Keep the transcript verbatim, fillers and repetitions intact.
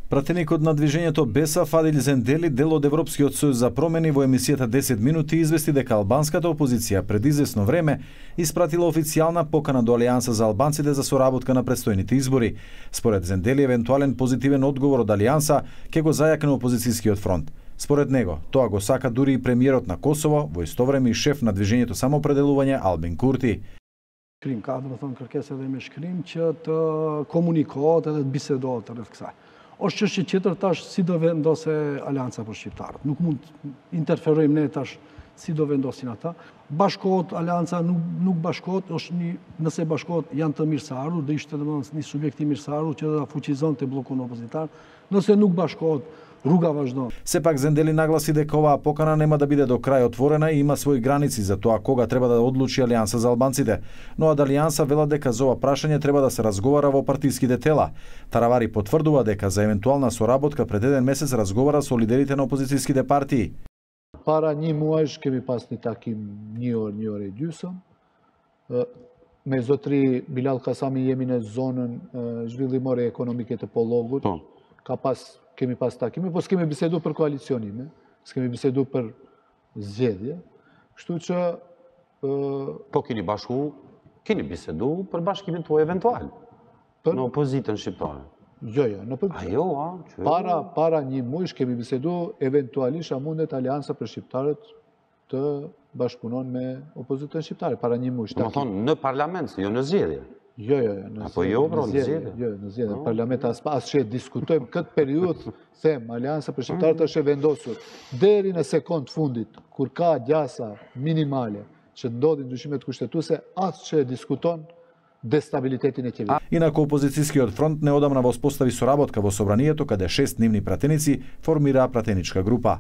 Пратеникот на движењето Бесав Адил Зендели, дел од Европскиот сојуз за промени, во емисијата десет минути извести дека албанската опозиција пред извесно време испратила официјална покана до Алијанса за албанците за соработка на предстојните избори. Според Зендели, евентуален позитивен одговор од Алијанса ќе го зајакне опозицијскиот фронт. Според него, тоа го сака дури и премиерот на Косово, во исто време и шеф на движењето Самоопределување Албин Курти. Krim ka, do të thonë kërkesë edhe me shkrim që të komunikohet edhe të bisedohet rreth kësaj. Është çështje tjetër tash si do vendose Alianca për shqiptarët. Nuk mund interferojmë ne tash si do vendosin ata. Bashkohet Alianca, nuk nuk bashkohet, është një nëse bashkohet janë të mirëseardhur, do ishte domethënë një subjekt i mirëseardhur që do ta fuqizonte bllokun oppozitar. Nëse nuk bashkohet, руга важно. Сепак Зендели нагласи дека оваа покана нема да биде до крај отворена и има своји граници за тоа кога треба да одлучи Алијанса за албанците. Но од Алијанса велат дека за ова прашање треба да се разговара во партиските тела. Таравари потврдува дека за евентуална соработка пред еден месец разговара со лидерите на опозицијските партии. Para një muajsh kemi pas një takim një orë, një orë e gjysëm. Me zotri Bilal Kasami jemi në zonën zhvillimore ekonomike të Pollogut. Ka pas kemi pas takime, po s'kemi bisedu për koalicionime, s'kemi bisedu për zgjedhje, kështu që... Po keni bashku, keni bisedu për bashkimin tuaj eventual, në opozitën shqiptare. Jo, jo, në për... Ajo, a? Para, para një mujsh kemi bisedu eventualisht a mundet Aliansa për shqiptarët të bashkëpunon me opozitën shqiptare, para një mujsh. Do më thonë në parlament, jo në zgjedhje. Jo, jo, jo. Apo jo, bro, në zgjedhje? Jo, në zgjedhje. Në parlament as pas që diskutojmë këtë periudhë, them, Aliansa për shqiptarët është e vendosur. Deri në sekond fundit, kur ka gjasa minimale që ndodhin ndryshimet kushtetuese, as që e diskuton дестабилитетин е ќе. Инаку опозицијскиот фронт неодамна воспостави соработка во собранието каде шест нивни пратеници формира пратеничка група.